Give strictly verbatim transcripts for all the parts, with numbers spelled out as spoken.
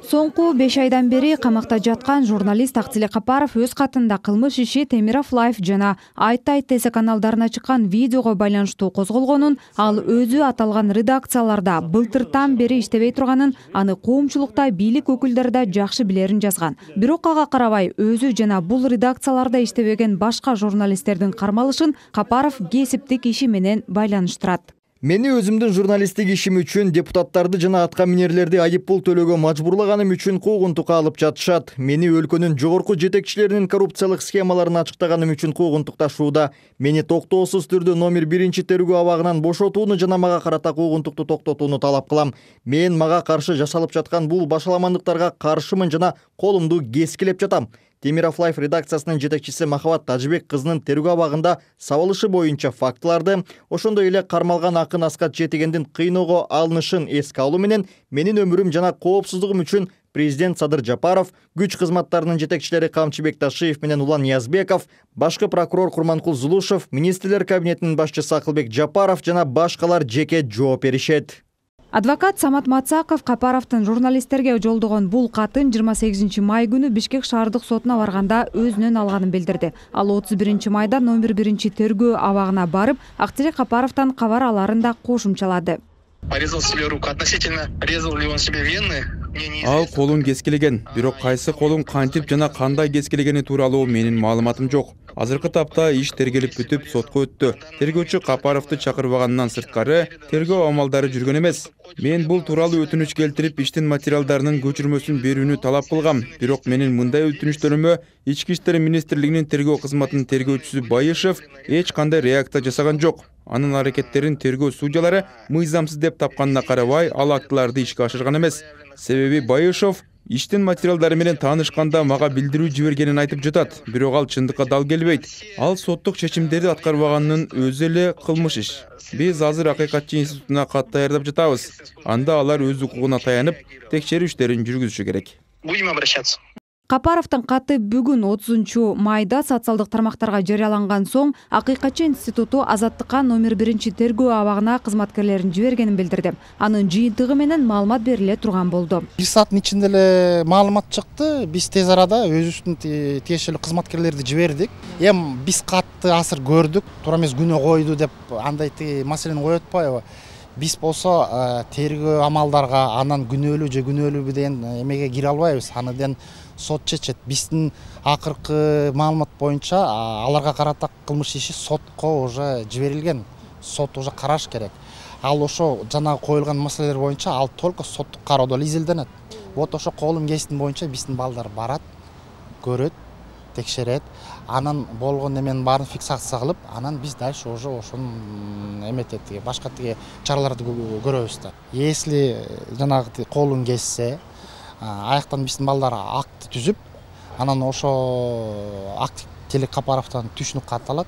Соңку беш айдан бери камакта жаткан журналист Актилек Капаров өз катында кылмыш иши Темиров Лайф жана Айт Айт ТС каналдарына чыккан видеого байланыштуу козголгонун, ал өзү аталган редакцияларда былтыртан бери иштебей турганын, аны коомчулукта бийлик өкүлдөрү да жакшы билерин жазган. Бирок ага карабай өзү жана бул редакцияларда иштебеген башка журналисттердин кармалышын Капаров кесиптик иши менен байланыштырат. Мени өзүмдүн журналисттик ишим үчүн депутаттарды жана атка минерлерди айып пул төлөөгө мажбурлаганым үчүн куугунтукка алып жатышат. Мени өлкөнүн жогорку жетекчилеринин коррупциялык схемаларын ачыктаганым үчүн куугунтукташууда. Мени токтоосуз түрдө номер биринчи тергөө абагынан бошотууну жана мага карата куугунтукту токтотууну талап кылам. Мен мага каршы жасалып жаткан бул башаламандыктарга каршымын жана колумду кескилеп жатам. Темиров Лайф редакциясынын жетекчиси Махабат Тажыбек кызынын тергөө абагында сабылышы боюнча фактыларды, ошондой эле кармалган Акын Аскат Жетегендин кыйноого алынышын эске алуу менен менин өмүрүм жана коопсуздугум үчүн президент Садыр Жапаров, күч кызматтарынын жетекчилери Камчыбек Ташиев менен Улан Ниязбеков, башкы прокурор Курманкул Зулушев, министрлер кабинетинин башчысы Акылбек Жапаров жана башкалар жеке жооп беришет. Адвокат Самат Мацаков Капаровдун журналисттерге жолдогон бул катын жыйырма сегизинчи май күнү Бишкек шаардык сотуна барганда өзүнөн алганын билдирди. Ал отуз биринчи майда номер биринчи тергөө абагына барып, Актилек Капаровдон кабар аларын да кошумчалады. Порезал себе руку. Относительно резал ли он себе вены? Ал колун кескилеген, бирок кайсы колун кантип жана кандай кескилегени тууралуу менин маалыматым жок. Азыркы тапта иш тергелип бүтүп сотко өттү. Тергөөчү Капаровду чакырбагандан сырткары тергөө амалдары жүргөн эмес. Мен бул тууралуу өтүнүч келтирип, иштин материалдарынын көчүрмөсүн берүүнү талап кылгам. Бирок менин мындай өтүнүчтөрүмө Ички иштер министрлигинин тергөө кызматынын тергөөчүсү Байышев эч кандай реакция жасаган жок. Анын аракеттерин тергөө судьялары мыйзамсыз деп тапканына карабай, ал актыларды ишке ашырган эмес. Себеби Байышев иштин материалдары менен таанышканда мага билдирүү жибергенин айтып жатат, бирок ал чындыкка дал келбейт. Ал соттук чечимдерди аткарбаганын өзү эле кылмыш иш. Биз азыр акыйкатчы институтуна кат даярдап жатабыз. Анда алар өз укугуна таянып, текшерүү иштерин жүргүзүшү керек. Будем обращаться. Капаровдун каты бүгүн отузунчу майда социалдык тармактарга жарыяланган соң Акыйкатчы институту Азаттыкка номер биринчи тергөө абагына кызматкерлерин жибергенин билдирди. Анын жыйынтыгы менен маалымат бериле турган болду. Бир сааттын ичинде эле маалымат чыкты. Биз тез арада өзүбүздүн тиешелүү кызматкерлерди жибердик. Эми биз катты асыр көрдүк, туура эмес күнөө койду деп андай маселени коюп атпайбы? Биз болсо тергөө амалдарга анан күнөөлүү же күнөөлүүбү деген эмеге кире албайбыз. Анын сот чечет. Биздин акыркы маалымат боюнча аларга карата кылмыш иши сотко уже жиберилген. Сот уже караш керек. Ал ошо жана коюлган маселелер боюнча ал только соттук кароодо эле изилденет. Вот ошо колум кестин боюнча биздин балдар барат, көрөт, текшерет. Анан болгон эменин баарын фиксация кылып, анан биз дальше уже ошонун эметет, башка тиги чараларды көрөбүз да. Если жанагы колун кессе, аяктан биздин балдар акт түзүп, анан ошо Актилек Капаровдон түшүнүк кат алат.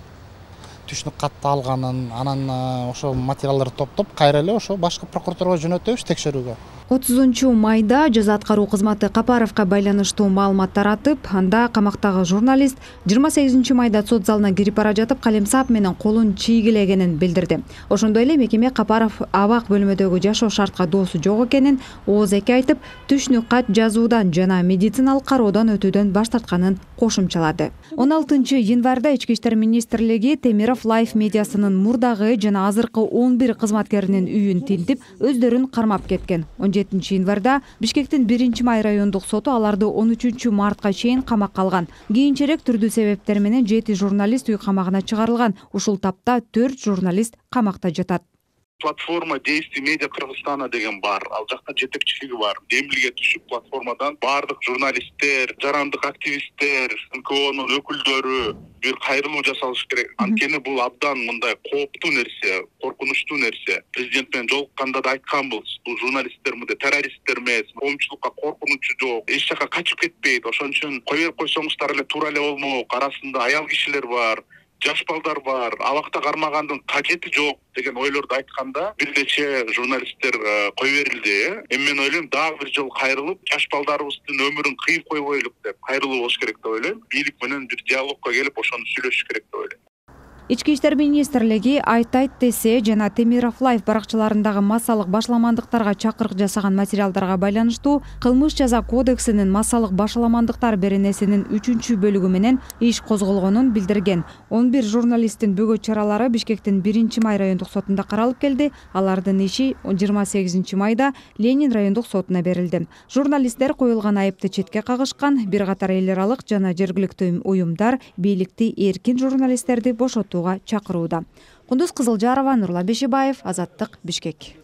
Түшүнүк катты алганын, анан ошо материалдарды топтоп, кайра эле ошо башкы прокуратурага жөнөтөбүз текшерүүгө. отузунчу майда жаза аткаруу кызматы Капаровго байланыштуу маалымат таратып, анда камактагы журналист жыйырма сегизинчи майда сот залына кирип бара жатып калемсап менен колун чийгилегенин билдирди. Ошондой эле мекеме Капаров абак бөлмөдөгү жашоо шартка доосу жок экенин ооз эки айтып, түшүнүк кат жазуудан жана медициналык кароодон өтүүдөн баш тартканын кошумчалады. он алтынчы январда Ички иштер министрлиги Темиров Лайф медиасынын мурдагы жана азыркы он бир кызматкеринин үйүн тинтип, өздөрүн кармап кеткен. он жетинчи январда Бишкектин биринчи май райондук соту аларды он үчүнчү мартка чейин камакка алган. Кийинчерээк түрдүү себептер менен жети журналист үй камагына чыгарылган. Ушул тапта төрт журналист камакта жатат. Платформа действий медиа Кыргызстана деген бар. Ал жакта жетекчилиги бар. Демилге түшүп платформадан бардык журналисттер, жарандык активисттер, эн ка онун өкүлдөрү бир кайрылуу жасалыш керек. Анткени бул абдан мындай кооптуу нерсе, коркунучтуу нерсе. Президент менен жолукканда да айтканбыз. Бул журналисттер мындай террористтер эмес, коомчулукка коркунучу жок, эч жака качып кетпейт. Ошон үчүн кое берип койсоңуздар эле туура эле болмок. Арасында аял кишилер бар, жаш балдар бар, абакта кармагандын кажети жок деген ойлорду айтканда бир нече журналисттер кой берилди. Эми мен ойлойм, дагы бир жолу кайрылып, жаш балдарыбыздын өмүрүн кыйып койбойлук деп кайрылуу болуш керек деп ойлойм. Бийлик менен бир диалогко келип, ошону сүйлөшүш керек деп ойлойм. Ички иштер министрлиги Айт айт десе жана Темиров Лайф баракчаларындагы массалык башаламандыктарга чакырык жасаган материалдарга байланыштуу Кылмыш жаза кодексинин массалык башаламандыктар беренесинин үчүнчү бөлүгү менен иш козголгонун билдирген. он бир журналисттин бөгөт чаралары Бишкектин биринчи май райондук сотунда каралып келди. Алардын иши жыйырма сегизинчи майда Ленин райондук сотуна берилди. Журналисттер коюлган айыпты четке кагышкан. Бир катар эл аралык жана жергиликтүү уюмдар бийликти эркин журналисттерди бошотууга чакырууда. Кундуз Кызылжарова, Нурлан Бешибаев, Азаттык, Бишкек.